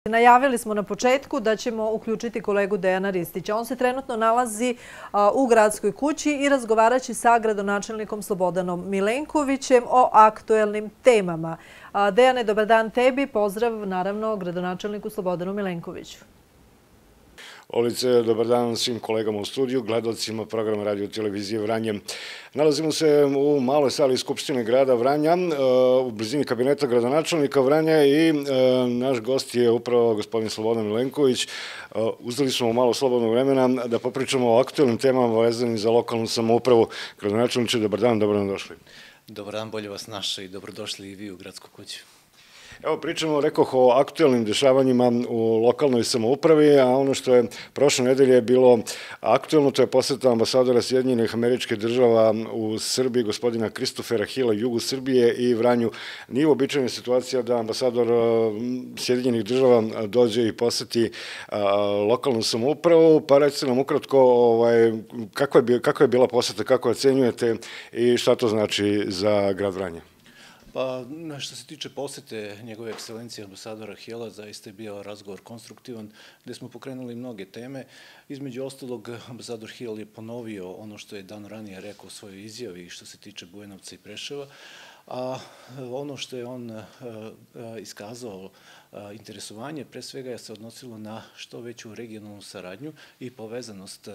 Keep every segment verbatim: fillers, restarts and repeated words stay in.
Najavili smo na početku da ćemo uključiti kolegu Dejana Ristića. On se trenutno nalazi u Gradskoj kući i razgovarat će sa gradonačelnikom Slobodanom Milenkovićem o aktuelnim temama. Dejane, dobar dan tebi. Pozdrav, naravno, gradonačelniku Slobodanu Milenkoviću. Olice, dobar dan svim kolegama u studiju, gledalcima programa Radio televizije Vranje. Nalazimo se u maloj sali Skupštine grada Vranja, u blizini kabineta gradonačelnika Vranja i naš gost je upravo gospodin Slobodan Milenković. Uzeli smo malo slobodnog vremena da popričamo o aktuelnim temama vezanim za lokalnu samoupravu. Gradonačelniče, dobar dan, dobro nam došli. Dobar dan, bolje vas naše i dobrodošli i vi u Gradsku kuću. Evo, pričamo, rekoh, o aktuelnim dešavanjima u lokalnoj samoupravi, a ono što je prošle nedelje bilo aktuelno, to je poseta ambasadora Sjedinjenih Američkih Država u Srbiji, gospodina Kristofera Hila, jugu Srbije i Vranju. Nije uobičajena situacija da ambasador Sjedinjenih Država dođe i poseti lokalnu samoupravu, pa recite nam ukratko kakva je bila poseta, kako ocenjujete i šta to znači za grad Vranje? Pa, što se tiče posete njegove ekscelencije ambasadora Hila, zaista je bio razgovor konstruktivan, gde smo pokrenuli mnoge teme. Između ostalog, ambasador Hil je ponovio ono što je dan ranije rekao u svojoj izjavi što se tiče Bujanovca i Preševa, a ono što je on iskazao interesovanje, pre svega je se odnosilo na što veću regionalnu saradnju i povezanost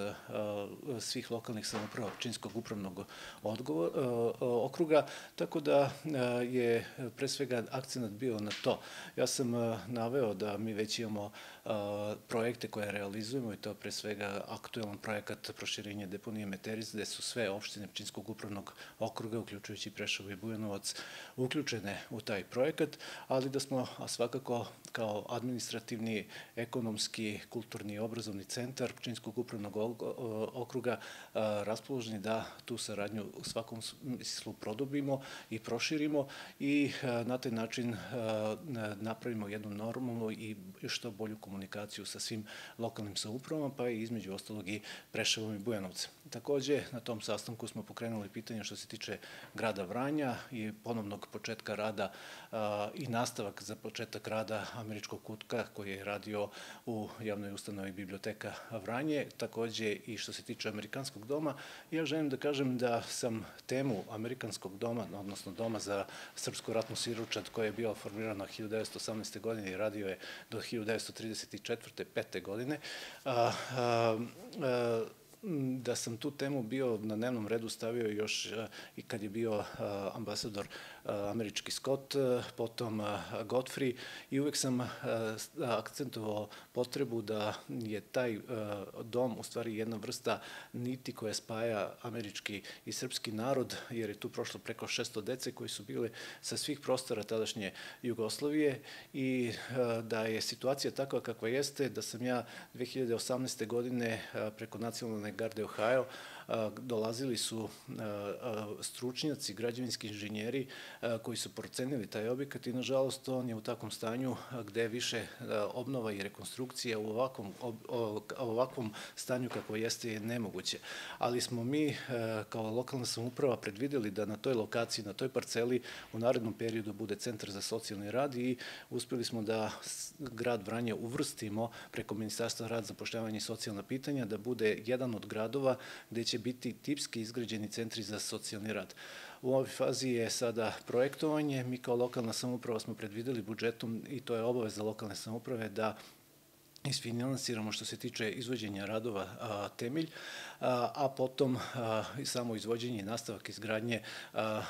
svih lokalnih samouprava Pčinjskog upravnog okruga, tako da je pre svega akcenat bio na to. Ja sam naveo da mi već imamo projekte koje realizujemo i to pre svega aktuelan projekat proširenja deponije Meteris, gde su sve opštine Pčinjskog upravnog okruga, uključujući Preševo i Bujanovac, uključene u taj projekat, ali da smo svakako kao administrativni, ekonomski, kulturni i obrazovni centar Pčinjskog upravnog okruga raspoloženi da tu saradnju u svakom smislu produbimo i proširimo i na taj način napravimo jednu normalnu i što bolju komunikaciju sa svim lokalnim samoupravama, pa i između ostalog i Preševom i Bujanovcem. Takođe, na tom sastanku smo pokrenuli pitanje što se tiče grada Vranja i ponovnog početka rada i nastavak za početak rada Američkog kutka koji je radio u javnoj ustanovi Biblioteka Vranje, takođe i što se tiče Amerikanskog doma. Ja želim da kažem da sam temu Amerikanskog doma, odnosno Doma za srpsku ratnu siročad, koja je bila formirana hiljadu devetsto osamnaeste. godine i radio je do hiljadu devetsto trideset četvrte. pete. godine, da sam tu temu bio na dnevnom redu stavio još i kad je bio ambasador američki Scott, potom Godfrey, i uvek sam akcentovao potrebu da je taj dom u stvari jedna vrsta niti koja spaja američki i srpski narod, jer je tu prošlo preko šesto dece koji su bile sa svih prostora tadašnje Jugoslavije i da je situacija takva kakva jeste, da sam ja dve hiljade osamnaeste. godine preko Nacionalne garde Ohio dolazili su stručnjaci, građevinski inženjeri koji su procenili taj objekat i nažalost on je u takvom stanju gde više obnova i rekonstrukcija u ovakvom stanju kako jeste je nemoguće. Ali smo mi kao lokalna samouprava predvideli da na toj lokaciji, na toj parceli u narednom periodu bude centar za socijalni rad i uspeli smo da grad Vranje uvrstimo preko Ministarstva rada, zapošljavanja i socijalna pitanja da bude jedan od gradova gde će biti tipski izgrađeni centri za socijalni rad. U ovoj fazi je sada projektovanje. Mi kao lokalna samouprava smo predvideli budžetom i to je obaveza lokalne samouprave da isfinansiramo što se tiče izvođenja radova temelj, a potom i samo izvođenje i nastavak izgradnje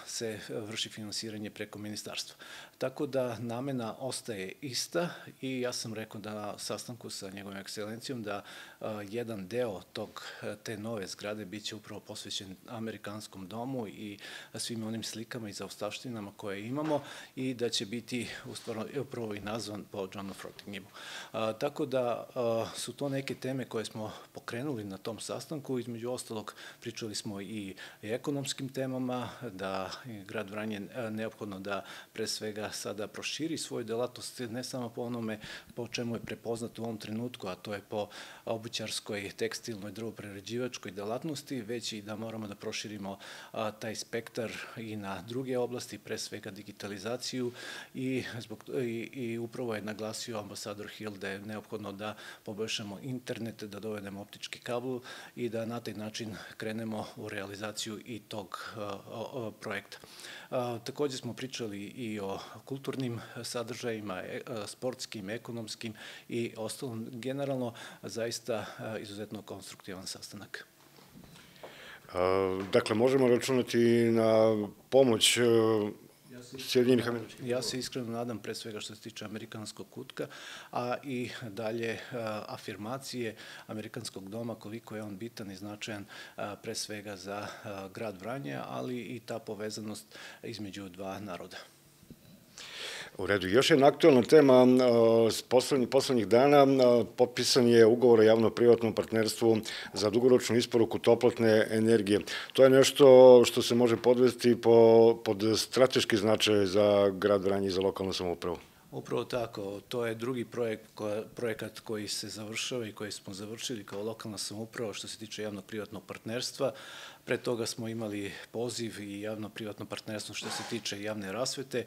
se vrši finansiranje preko ministarstva. Tako da namena ostaje ista i ja sam rekao na sastanku sa njegovom ekscelencijom da jedan deo tog, te nove zgrade biće upravo posvećen Amerikanskom domu i svim onim slikama i zaostavštinama koje imamo i da će biti upravo i nazvan po Johnu Frottinghemu. Tako da da su to neke teme koje smo pokrenuli na tom sastanku. Između ostalog, pričali smo i ekonomskim temama, da je grad Vranje neophodno da pre svega sada proširi svoju delatnost, ne samo po onome po čemu je prepoznat u ovom trenutku, a to je po obućarskoj, tekstilnoj, drvoprerađivačkoj delatnosti, već i da moramo da proširimo taj spektar i na druge oblasti, pre svega digitalizaciju i, zbog, i, i upravo je naglasio ambasador Hill da je neophodno da poboljšamo internet, da dovedemo optički kabel i da na taj način krenemo u realizaciju i tog uh, projekta. Uh, takođe smo pričali i o kulturnim sadržajima, e, sportskim, ekonomskim i ostalom. Generalno, zaista uh, izuzetno konstruktivan sastanak. Dakle, možemo računati na pomoć Sjedinjenih Američkih. Ja se iskreno nadam, pre svega što se tiče amerikanskog kutka, a i dalje afirmacije amerikanskog doma, koliko je on bitan i značajan pre svega za grad Vranje, ali i ta povezanost između dva naroda. U redu. Još jedna aktualna tema poslednjih dana, potpisan je ugovor o javno-privatnom partnerstvu za dugoročnu isporuku toplotne energije. To je nešto što se može podvesti pod strateški značaj za grad Vranje i za lokalnu samoupravu. Upravo tako, to je drugi projekt, projekat koji se završava i koji smo završili kao lokalna samouprava što se tiče javno-privatnog partnerstva. Pre toga smo imali poziv i javno-privatno partnerstvo što se tiče javne rasvete,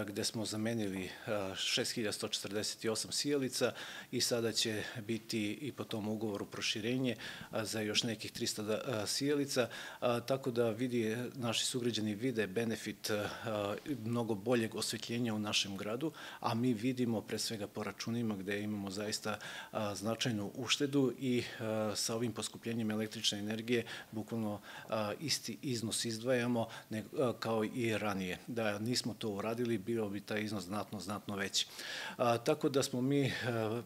gde smo zamenili šest hiljada sto četrdeset osam sijalica i sada će biti i po tom ugovoru proširenje za još nekih trista sijalica, tako da vidi, naši sugrađani vide benefit mnogo boljeg osvetljenja u našem gradu, a mi vidimo pre svega po računima gde imamo zaista značajnu uštedu i sa ovim poskupljenjem električne energije bukvalno isti iznos izdvajamo kao i ranije. Da nismo to uradili, bio bi taj iznos znatno, znatno veći. Tako da smo mi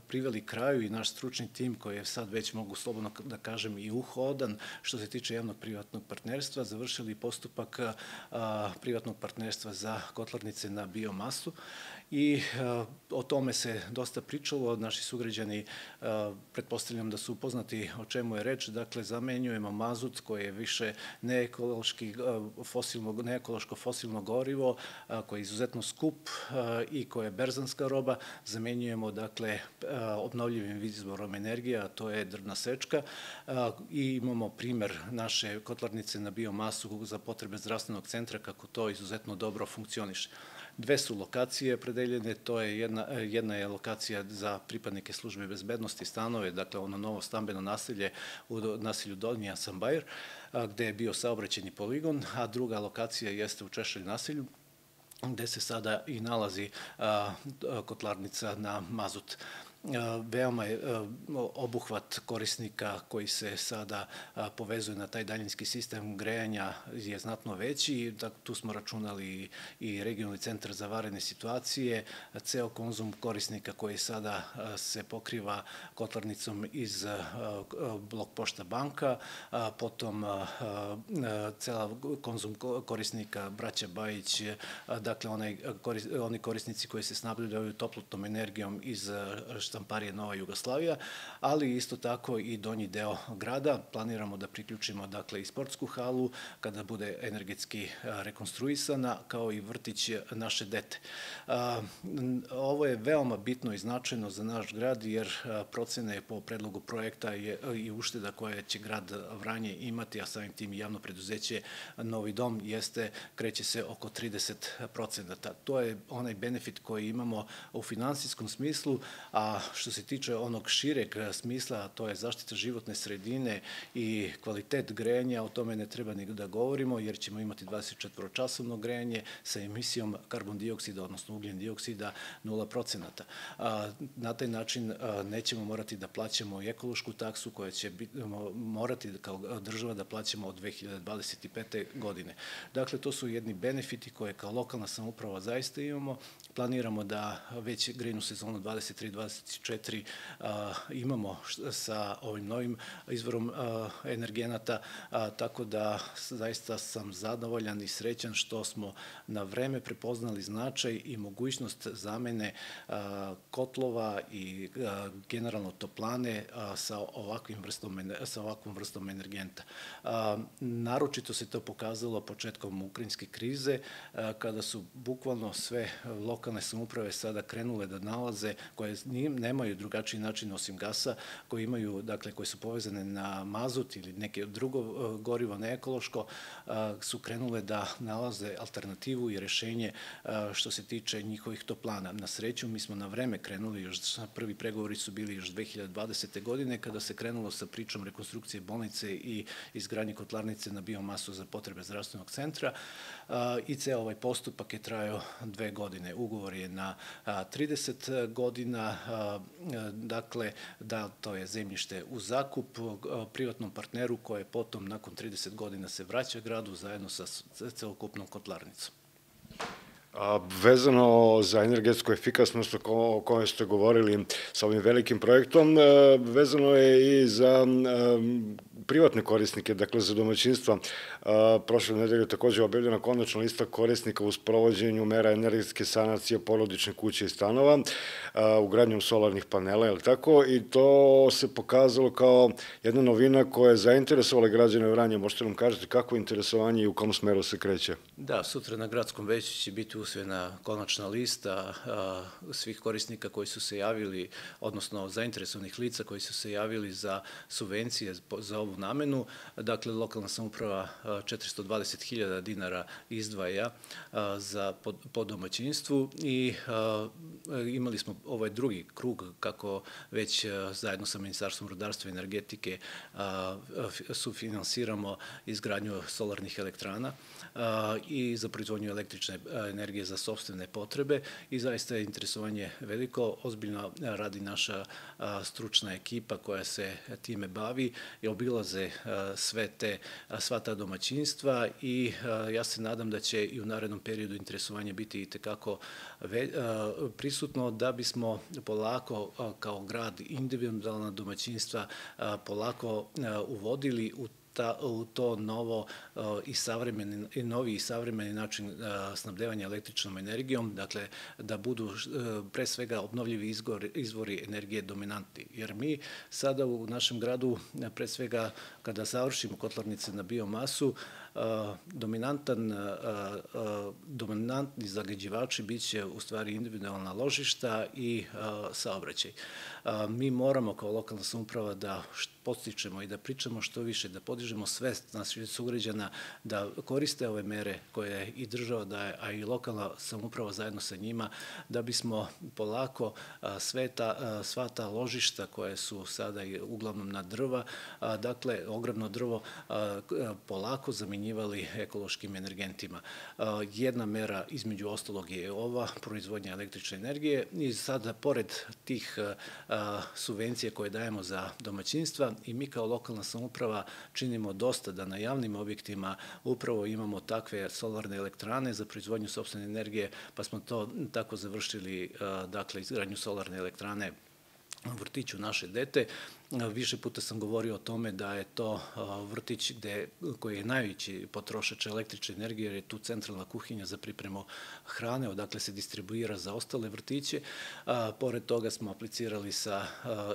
priveli kraju i naš stručni tim koji je sad već, mogu slobodno da kažem, i uhodan što se tiče javnog privatnog partnerstva, završili postupak privatnog partnerstva za kotlarnice na biomasu i o tome se dosta pričalo. Naši sugrađani, pretpostavljam da su upoznati o čemu je reč. Dakle, zamenjujemo mazut koji je više neekološko fosilno gorivo, koji je izuzetno skup i koja je berzanska roba. Zamenjujemo, dakle, obnovljivim izvorom energije, a to je drvna sečka. I imamo primer naše kotlarnice na biomasu za potrebe zdravstvenog centra, kako to izuzetno dobro funkcioniše. Dve su lokacije predeljene, to je jedna, jedna je lokacija za pripadnike službe bezbednosti, stanove, dakle ono novo stambeno naselje u naselju Donji Asambajer, gde je bio saobraćajni poligon, a druga lokacija jeste u Češelj naselju, gde se sada i nalazi a, kotlarnica na mazut. Veoma je obuhvat korisnika koji se sada povezuje na taj daljinski sistem grejanja je znatno veći. Tu smo računali i regionalni centar za vanredne situacije, ceo konzum korisnika koji sada se pokriva kotlarnicom iz Blok Pošta banka, potom cela konzum korisnika Braća Bajić, dakle oni korisnici koji se snabdevaju toplotnom energijom iz štamparije Nova Jugoslavija, ali isto tako i donji deo grada. Planiramo da priključimo, dakle, i sportsku halu kada bude energetski rekonstruisana, kao i vrtić naše dete. Ovo je veoma bitno i značajno za naš grad, jer procene po predlogu projekta i ušteda koje će grad Vranje imati, a samim tim i javno preduzeće Novi dom, jeste, kreće se oko trideset procenata. To je onaj benefit koji imamo u finansijskom smislu, a što se tiče onog šireg smisla, to je zaštita životne sredine i kvalitet grejanja, o tome ne treba ni da govorimo, jer ćemo imati dvadesetčetvoročasovno grejanje sa emisijom karbon dioksida, odnosno ugljen dioksida nula procenata. Na taj način nećemo morati da plaćamo i ekološku taksu koja će morati kao država da plaćamo od dve hiljade dvadeset pete. godine. Dakle, to su jedni benefiti koje kao lokalna samouprava zaista imamo. Planiramo da već grejnu sezonu dvadeset tri dvadeset dvadeset četiri imamo sa ovim novim izvorom energenata, tako da zaista sam zadovoljan i srećan što smo na vreme prepoznali značaj i mogućnost zamene kotlova i generalno toplane sa ovakvim vrstom, sa ovakvom vrstom energenta. Naročito se to pokazalo početkom ukrajinske krize, kada su bukvalno sve lokalne samouprave sada krenule da nalaze, koje nemaju drugačiji način osim gasa, koji imaju, dakle, koje su povezane na mazut ili neke drugo gorivo neekološko, su krenule da nalaze alternativu i rešenje što se tiče njihovih toplana. Na sreću, mi smo na vreme krenuli, još prvi pregovori su bili još dve hiljade dvadesete. godine, kada se krenulo sa pričom rekonstrukcije bolnice i izgradnje kotlarnice na biomasu za potrebe zdravstvenog centra, i ceo ovaj postupak je trajao dve godine. Ugovor je na trideset godina, dakle, da to je zemljište u zakup privatnom partneru koje potom nakon trideset godina se vraća gradu zajedno sa celokupnom kotlarnicom. Vezano za energetsku efikasnost o kojoj ste govorili sa ovim velikim projektom, vezano je i za privatne korisnike, dakle za domaćinstva. Prošle nedelje takođe objavljena konačna lista korisnika u sprovođenju mera energetske sanacije porodične kuće i stanova, ugradnjom solarnih panela, je li tako? I to se pokazalo kao jedna novina koja je zainteresovala građane Vranja. Možete nam kažete kako je interesovanje i u kom smeru se kreće? Da, sutra na gradskom veću će biti usvojena konačna lista svih korisnika koji su se javili, odnosno zainteresovanih lica koji su se javili za subvencije za ovu namenu. Dakle, lokalna samouprava četiristo dvadeset hiljada dinara izdvaja za po domaćinstvu i imali smo ovaj drugi krug kako već zajedno sa Ministarstvom rudarstva i energetike sufinansiramo izgradnju solarnih elektrana i za proizvodnju električne energije za sopstvene potrebe i zaista je interesovanje veliko. Ozbiljno radi naša stručna ekipa koja se time bavi i obilaze sve te, sva ta domaćinstva i ja se nadam da će i u narednom periodu interesovanje biti i tekako prisutno da bismo polako kao grad individualna domaćinstva polako uvodili u u to novo i savremeni, i novi i savremeni način snabdevanja električnom energijom, dakle da budu pre svega obnovljivi izvori energije dominantni. Jer mi sada u našem gradu, pre svega kada završimo kotlarnice na biomasu, dominantan, dominantni zagađivači biće u stvari individualna ložišta i saobraćaj. Mi moramo kao lokalna samouprava da podstičemo i da pričamo što više, da podižemo svest naših sugrađana da koriste ove mere koje i država daje, a i lokalna samouprava zajedno sa njima, da bismo polako sva ta ložišta koje su sada uglavnom na drva, dakle ogromno drvo, polako zamenjivali ekološkim energentima. Jedna mera između ostalog je ova proizvodnja električne energije i sada pored tih subvencija koje dajemo za domaćinstva i mi kao lokalna samouprava činimo dosta da na javnim objektima upravo imamo takve solarne elektrane za proizvodnju sopstvene energije, pa smo to tako završili, dakle, izgradnju solarne elektrane u vrtiću naše dete. Više puta sam govorio o tome da je to vrtić koji je najveći potrošač električne energije, jer je tu centralna kuhinja za pripremu hrane, odakle se distribuira za ostale vrtiće. Pored toga smo aplicirali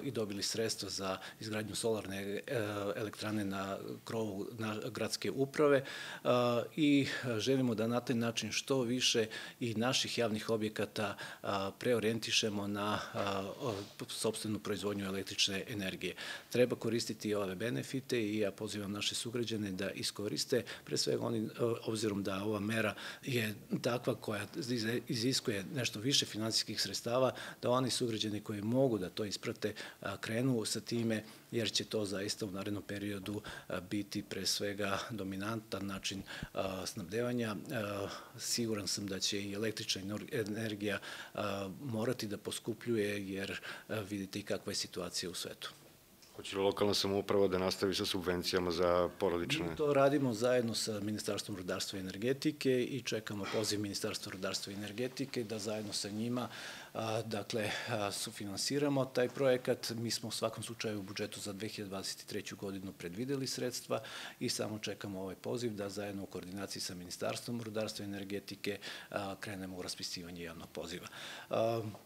i dobili sredstva za izgradnju solarne elektrane na krovu gradske uprave i želimo da na taj način što više i naših javnih objekata preorijentišemo na sopstvenu proizvodnju električne energije. Treba koristiti i ove benefite i ja pozivam naše sugrađane da iskoriste, pre svega oni, obzirom da ova mera je takva koja iziskuje nešto više finansijskih sredstava, da oni sugrađani koji mogu da to isprate krenu sa time, jer će to zaista u narednom periodu biti pre svega dominantan način snabdevanja. Siguran sam da će i električna energija morati da poskupljuje, jer vidite i kakva je situacija u svetu. Hoće li lokalna samouprava da nastavi sa subvencijama za porodične? Mi to radimo zajedno sa Ministarstvom rudarstva i energetike i čekamo poziv Ministarstva rudarstva i energetike da zajedno sa njima dakle, sufinansiramo taj projekat. Mi smo u svakom slučaju u budžetu za dve hiljade dvadeset treću godinu predvideli sredstva i samo čekamo ovaj poziv da zajedno u koordinaciji sa Ministarstvom rudarstva i energetike krenemo u raspisivanje javnog poziva.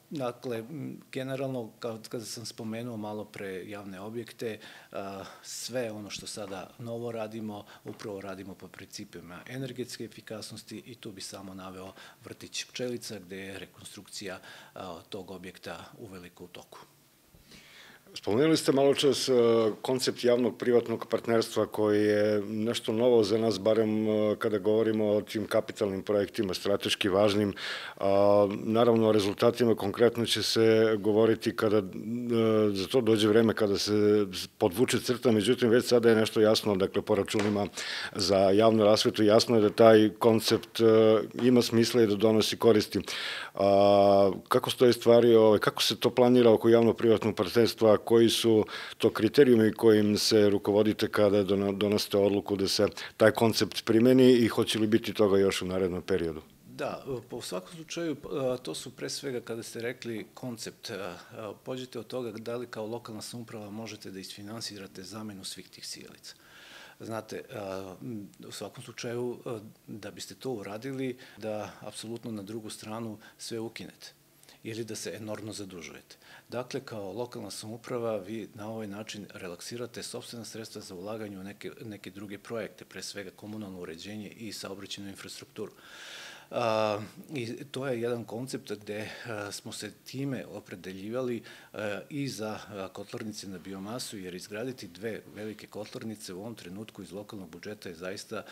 Dakle, generalno, kada sam spomenuo malo pre javne objekte, sve ono što sada novo radimo, upravo radimo po principima energetske efikasnosti i tu bi samo naveo vrtić Pčelica, gde je rekonstrukcija tog objekta uveliko u toku. Spomenuli ste malo čas koncept javnog privatnog partnerstva koji je nešto novo za nas, barem kada govorimo o tim kapitalnim projektima, strateški važnim. Naravno, o rezultatima konkretno će se govoriti kada za to dođe vreme, kada se podvuče crta, međutim, već sada je nešto jasno, dakle, po računima za javnu rasvetu, jasno je da taj koncept ima smisla i da donosi koristi. Kako stoje stvari, kako se to planira oko javno-privatnog partnerstva, koji su to kriterijumi kojim se rukovodite kada donosite odluku da se taj koncept primeni i hoće li biti toga još u narednom periodu? Da, po svakom slučaju to su pre svega kada ste rekli koncept, pođete od toga da li kao lokalna samouprava možete da isfinansirate zamenu svih tih sijalica. Znate, u svakom slučaju da biste to uradili, da apsolutno na drugu stranu sve ukinete ili da se enormno zadužujete. Dakle, kao lokalna samouprava vi na ovaj način relaksirate sopstvena sredstva za ulaganje u neke druge projekte, pre svega komunalno uređenje i saobraćajnu infrastrukturu. I to je jedan koncept gde smo se time opredeljivali i za kotlarnice na biomasu, jer izgraditi dve velike kotlarnice u ovom trenutku iz lokalnog budžeta je zaista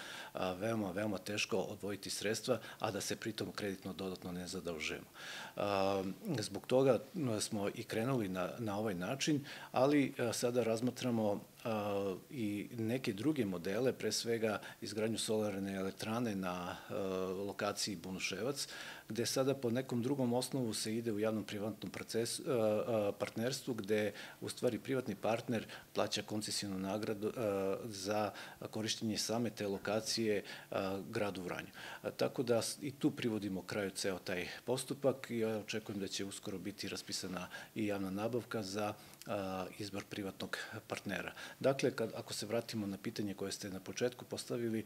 veoma, veoma teško odvojiti sredstva, a da se pritom kreditno dodatno ne zadužujemo. Zbog toga smo i krenuli na ovaj način, ali sada razmatramo i neke druge modele, pre svega izgradnju solarne elektrane na lokaciji Bunuševac, gde sada po nekom drugom osnovu se ide u javnom-privatnom partnerstvu, gde u stvari privatni partner plaća koncesijonu nagradu za korištenje same te lokacije gradu Vranju. Tako da i tu privodimo kraju ceo taj postupak i ja očekujem da će uskoro biti raspisana i javna nabavka za izbor privatnog partnera. Dakle, ako se vratimo na pitanje koje ste na početku postavili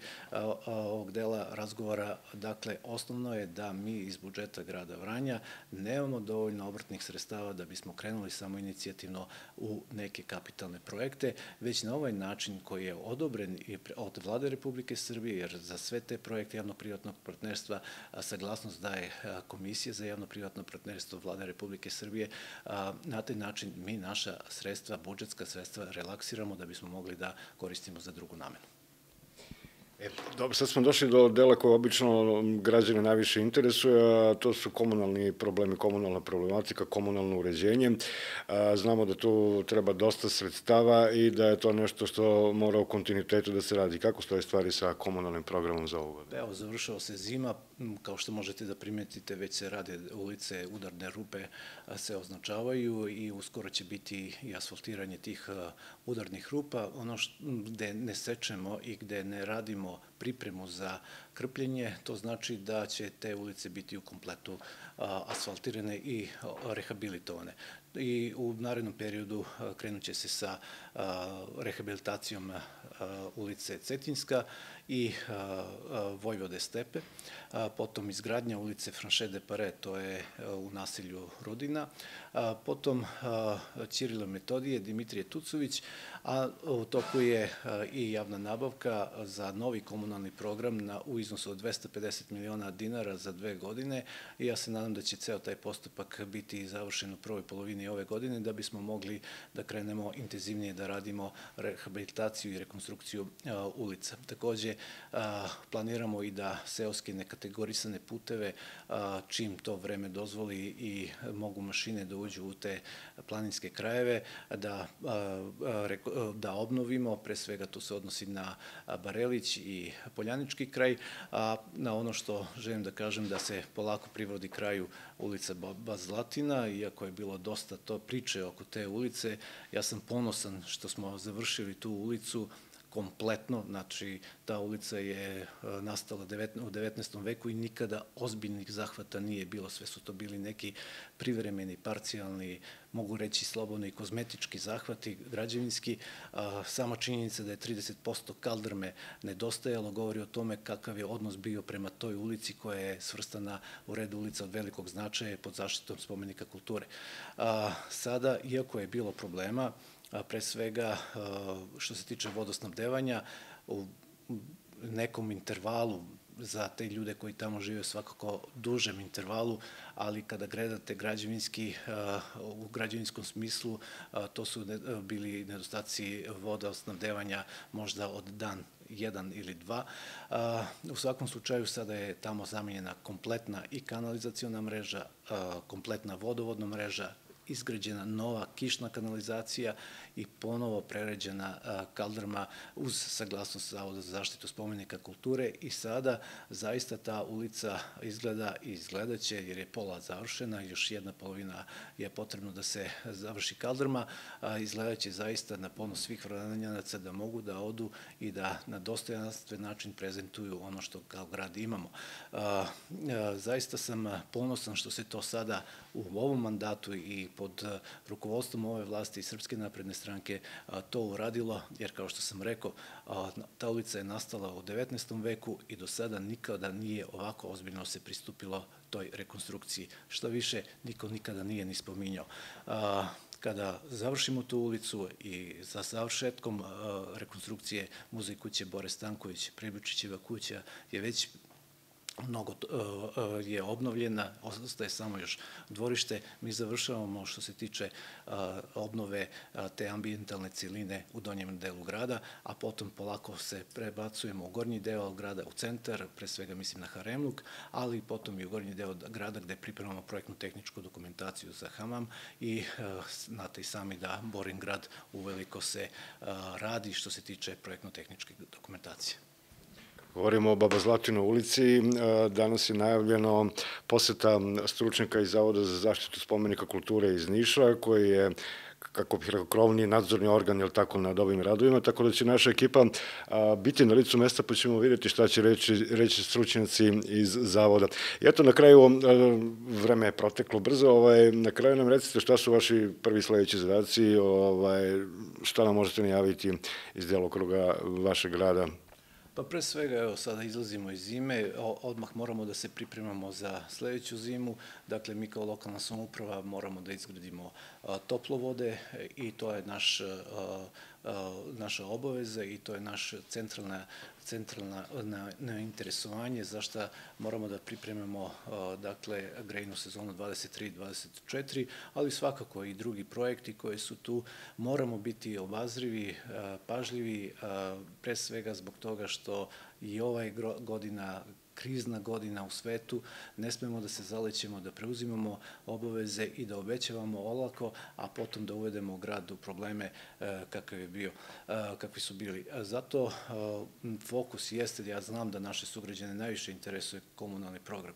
ovog dela razgovora, dakle, osnovno je da mi iz budžeta grada Vranja nemamo dovoljno obrtnih sredstava da bismo krenuli samo inicijativno u neke kapitalne projekte, već na ovaj način koji je odobren od Vlade Republike Srbije, jer za sve te projekte javno-privatnog partnerstva saglasnost daje Komisija za javno-privatno partnerstvo Vlade Republike Srbije. Na taj način mi naša sredstva, budžetska sredstva relaksiramo da bismo mogli da koristimo za drugu namenu. Dobro, sad smo došli do dela koje obično građane najviše interesuje, a to su komunalni problemi, komunalna problematika, komunalno uređenje. Znamo da tu treba dosta sredstava i da je to nešto što mora u kontinuitetu da se radi. Kako stoje stvari sa komunalnim programom za ovu godinu? Evo, završava se zima, kao što možete da primetite, već se rade ulice, udarne rupe se označavaju i uskoro će biti i asfaltiranje tih udarnih rupa. Ono gde ne sečemo i gde ne radimo pripremu za krpljenje, to znači da će te ulice biti u kompletu asfaltirane i rehabilitovane. I u narednom periodu krenut će se sa rehabilitacijom ulice Cetinjska i Vojvode Stepe, potom izgradnja ulice Franše de Pare, to je u naselju Rudina, potom Ćirila Metodije, Dimitrije Tucović, a u toku je i javna nabavka za novi komunalni program u iznosu od dvesta pedeset miliona dinara za dve godine i ja se nadam da će ceo taj postupak biti završen u prvoj polovini ove godine da bismo mogli da krenemo intenzivnije da radimo rehabilitaciju i rekonstrukciju ulica. Takođe, planiramo i da seoske nekategorisane puteve, čim to vreme dozvoli i mogu mašine da uđu u te planinske krajeve, da obnovimo, pre svega to se odnosi na Barelić i Poljanički kraj, a na ono što želim da kažem da se polako privodi kraju ulica Baba Zlatina, iako je bilo dosta dosta to priče oko te ulice. Ja sam ponosan što smo završili tu ulicu kompletno, znači ta ulica je nastala u devetnaestom veku i nikada ozbiljnih zahvata nije bilo, sve su to bili neki privremeni, parcijalni, mogu reći slobodno i kozmetički zahvati, građevinski. Sama činjenica da je trideset posto kaldrme nedostajalo govori o tome kakav je odnos bio prema toj ulici koja je svrstana u red ulica od velikog značaja pod zaštitom spomenika kulture. Sada, iako je bilo problema, pre svega što se tiče vodosnabdevanja, u nekom intervalu za te ljude koji tamo žive svakako dužem intervalu, ali kada gledate građevinski, u građevinskom smislu, to su bili nedostaci vodosnabdevanja možda od dan jedan ili dva. U svakom slučaju sada je tamo zamenjena kompletna i kanalizaciona mreža, kompletna vodovodna mreža, izgrađena nova kišna kanalizacija i ponovo preređena kaldrma uz saglasnost Zavoda za zaštitu spomenika kulture i sada zaista ta ulica izgleda i izgledaće, jer je pola završena, još jedna polovina je potrebno da se završi kaldrma, izgledaće zaista na ponos svih Vranjanaca da mogu da odu i da na dostojanstven način prezentuju ono što kao grad imamo. Zaista sam ponosan što se to sada u ovom mandatu i pod rukovodstvom ove vlasti i Srpske napredne stranke to uradilo, jer kao što sam rekao, ta ulica je nastala u devetnaestom veku i do sada nikada nije ovako ozbiljno se pristupilo toj rekonstrukciji. Što više, niko nikada nije ni spominjao. Kada završimo tu ulicu i za završetkom rekonstrukcije Muzej kuće Bore Stanković, Pribučićeva kuća je već mnogo je obnovljena, ostaje samo još dvorište. Mi završavamo što se tiče obnove te ambijentalne cijeline u donjem delu grada, a potom polako se prebacujemo u gornji deo grada, u centar, pre svega mislim na Haremluk, ali potom i u gornji deo grada gde pripremamo projektno-tehničku dokumentaciju za Hamam i znate i sami da Borin grad uveliko se radi što se tiče projektno-tehničke dokumentacije. Govorimo o Baba Zlatinoj ulici. Danas je najavljeno poseta stručnjaka iz Zavoda za zaštitu spomenika kulture iz Niša, koji je, kako bih rekao, krovni nadzorni organ, jel tako, nad ovim radovima, tako da će naša ekipa biti na licu mesta, pa ćemo vidjeti šta će reći stručnjaci iz Zavoda. I eto, na kraju, vreme je proteklo brzo, na kraju nam recite šta su vaši prvi sledeći zadaci, šta nam možete najaviti iz delokruga vašeg rada. Pa pre svega, evo, sada izlazimo iz zime, odmah moramo da se pripremamo za sledeću zimu, dakle, mi kao lokalna samouprava moramo da izgradimo toplovode i to je naša obaveza i to je naš centralna centralno interesovanje, zašto moramo da pripremimo, dakle, grejnu sezonu dvadeset tri dvadeset četiri, ali svakako i drugi projekti koji su tu. Moramo biti obazrivi, pažljivi, pre svega zbog toga što i ovaj godina, krizna godina u svetu, ne smemo da se zalećemo, da preuzimamo obaveze i da obećavamo olako, a potom da uvedemo grad u probleme kakav je bio, kakvi su bili. Zato fokus jeste, ja znam da naše sugrađane najviše interesuje komunalni program.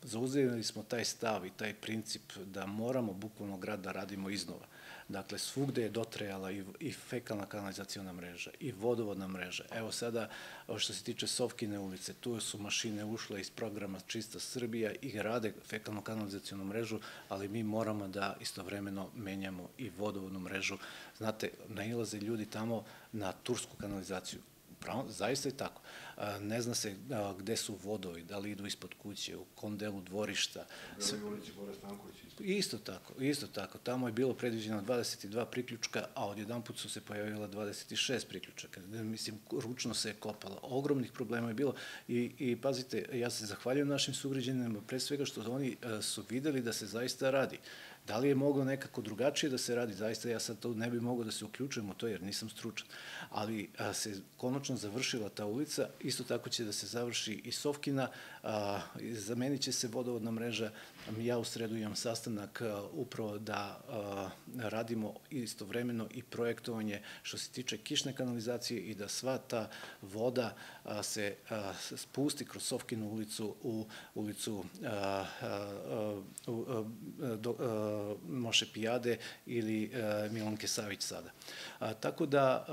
Zauzeli smo taj stav i taj princip da moramo bukvalno grad da radimo iznova. Dakle, svugde je dotrejala i fekalna kanalizaciona mreža i vodovodna mreža. Evo sada, što se tiče Sovkine ulice, tu su mašine ušle iz programa Čista Srbija i rade fekalnu kanalizacionu mrežu, ali mi moramo da istovremeno menjamo i vodovodnu mrežu. Znate, nailaze ljudi tamo na tursku kanalizaciju. Zaista je tako. Ne zna se gde su vodovi, da li idu ispod kuće, u kom delu dvorišta. U ulici Bore Stanković. Isto tako, isto tako. Tamo je bilo predviđeno dvadeset dva priključka, a odjedanput su se pojavila dvadeset šest priključaka. Mislim, ručno se je kopalo. Ogromnih problema je bilo i pazite, ja se zahvaljujem našim sugrađanima, pre svega što oni su videli da se zaista radi. Da li je moglo nekako drugačije da se radi? Zaista ja sad to ne bi mogao da se uključujem u to jer nisam stručan. Ali se konačno završila ta ulica, isto tako će da se završi i Sovkina Zamenit će se vodovodna mreža. Ja u sredu imam sastanak upravo da radimo istovremeno i projektovanje što se tiče kišne kanalizacije i da sva ta voda se spusti kroz Sofkinu ulicu u ulicu Moše Pijade ili Milanke Savić sada. Tako da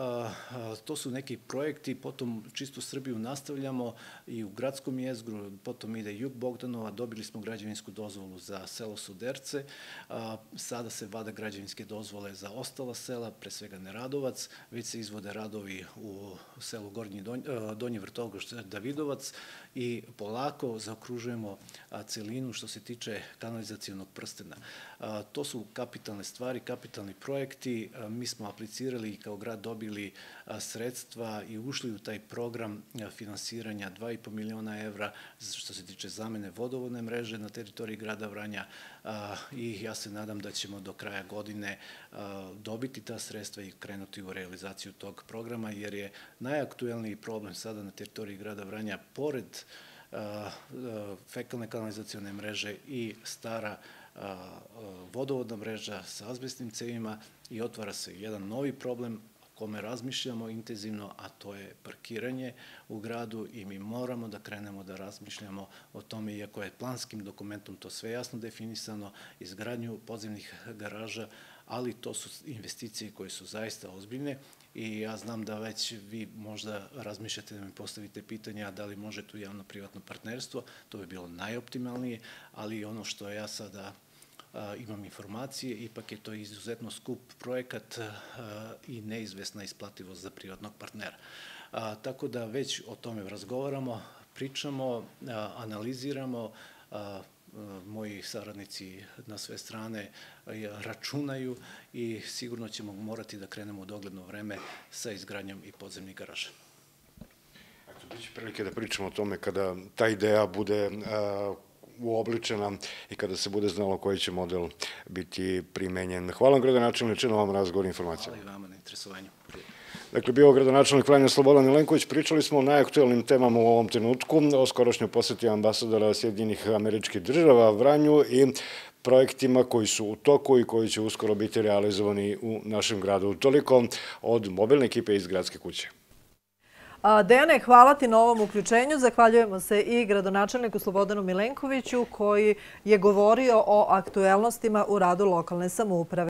to su neki projekti, potom Čistu Srbiju nastavljamo i u gradskom jezgru, potom ide Jug Bogdanova, dobili smo građevinsku dozvolu za selo Suderce, sada se vada građevinske dozvole za ostala sela, pre svega Neradovac, već se izvode radovi u selu Gornji Donji Vrtogoš Davidovac i polako zaokružujemo celinu što se tiče kanalizacionog prstena. To su kapitalne stvari, kapitalni projekti. Mi smo aplicirali i kao grad dobili sredstva i ušli u taj program finansiranja dva i po miliona evra što se tiče zamene vodovodne mreže na teritoriji grada Vranja i ja se nadam da ćemo do kraja godine dobiti ta sredstva i krenuti u realizaciju tog programa, jer je najaktuelniji problem sada na teritoriji grada Vranja, pored fekalne kanalizacione mreže i stara vodovodna mreža sa azbestnim cevima, i otvara se jedan novi problem o kome razmišljamo intenzivno, a to je parkiranje u gradu i mi moramo da krenemo da razmišljamo o tome, iako je planskim dokumentom to sve jasno definisano, izgradnju podzemnih garaža, ali to su investicije koje su zaista ozbiljne i ja znam da već vi možda razmišljate da mi postavite pitanja da li može tu javno-privatno partnerstvo, to bi bilo najoptimalnije, ali ono što ja sada imam informacije, ipak je to izuzetno skup projekat i neizvesna isplativost za privatnog partnera. Tako da već o tome razgovaramo, pričamo, analiziramo, moji saradnici na sve strane računaju i sigurno ćemo morati da krenemo u dogledno vreme sa izgradnjom i podzemnih garaža. Biće prilike da pričamo o tome kada ta ideja bude uobličena i kada se bude znalo koji će model biti primenjen. Hvala vam, gradonačelniče, na ovom razgovoru i informacijama. Hvala i vama na interesovanju. Dakle, bio gradonačelnik Vranja Slobodan Milenković. Pričali smo o najaktuelnim temama u ovom trenutku, o skorošnjoj poseti ambasadora Sjedinjenih Američkih Država Vranju i projektima koji su u toku i koji će uskoro biti realizovani u našem gradu. Toliko od mobilne ekipe iz Gradske kuće. Dejane, hvala ti na ovom uključenju. Zahvaljujemo se i gradonačelniku Slobodanu Milenkoviću koji je govorio o aktuelnostima u radu lokalne samouprave.